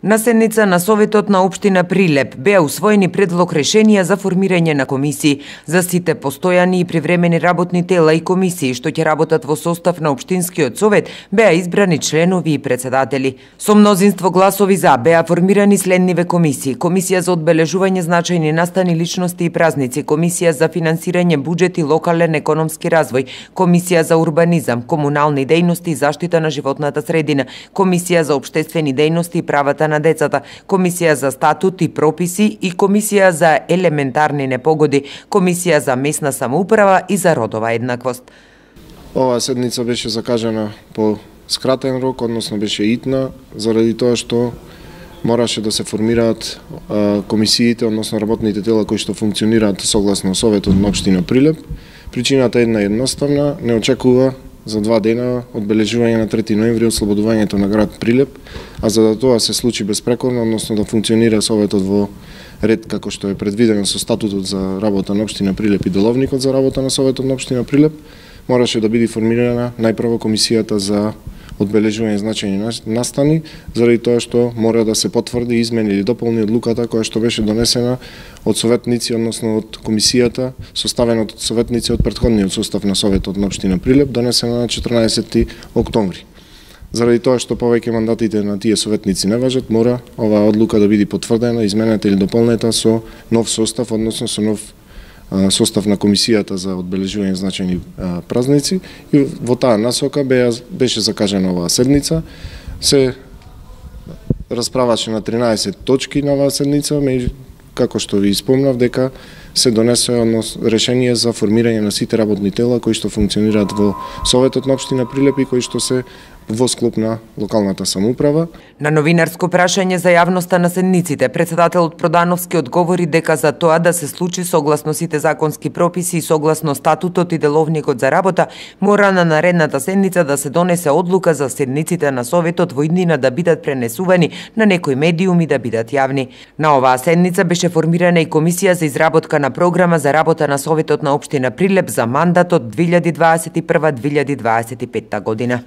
На седница на Советот на општина Прилеп беа усвоени предлог решенија за формирање на комисии за сите постојани и привремени работни тела и комисии што ќе работат во состав на општинскиот совет. Беа избрани членови и председатели. Со мнозинство гласови за беа формирани следниве комисии: Комисија за одбележување значајни настани, личности и празници, Комисија за финансирање буџет и локален економски развој, Комисија за урбанизам, комунални дејности и заштита на животната средина, Комисија за општествени дејности и правата на децата, Комисија за статут и прописи и Комисија за елементарни непогоди, Комисија за местна самоуправа и за родова еднаквост. Оваа седница беше закажана по скратен рок, односно беше итна, заради тоа што мораше да се формираат комисиите, односно работните тела кои што функционираат согласно Советот на општина Прилеп. Причината е едноставна, не очекува за 2 дена одбележување на 3 ноември ослободувањето на град Прилеп, а за да тоа се случи безпрекорно, односно да функционира Советот во ред како што е предвидено со статутот за работа на општина Прилеп и деловникот за работа на Советот на општина Прилеп, мораше да биде формирана најпрво комисијата за одбележување значајни настани, заради тоа што мора да се потврди, измени или дополни одлуката која што беше донесена од советници, односно од комисијата, составена од советници од претходниот состав на Советот на општина Прилеп, донесена на 14 октомври. Заради тоа што повеќе мандатите на тие советници не важат, мора оваа одлука да биде потврдена, изменета или дополнета со нов состав, односно со нов состав на комисијата за одбележување значајни празници, и во таа насока беше закажана оваа седница. Се расправаше на 13 точки на оваа седница, како што ви спомнав, дека се донесе решение за формирање на сите работни тела кои што функционираат во Советот на општина Прилеп и кои што се во склоп на локалната самоуправа. На новинарско прашање за јавноста на седниците, председателот Продановски одговори дека за тоа да се случи согласно сите законски прописи и согласно статутот и деловникот за работа, мора на наредната седница да се донесе одлука за седниците на Советот во иднина да бидат пренесувани на некој медиум и да бидат јавни. На оваа седница беше формирана и комисија за изработка на програма за работа на Советот на општина Прилеп за мандатот 2021-2025 година.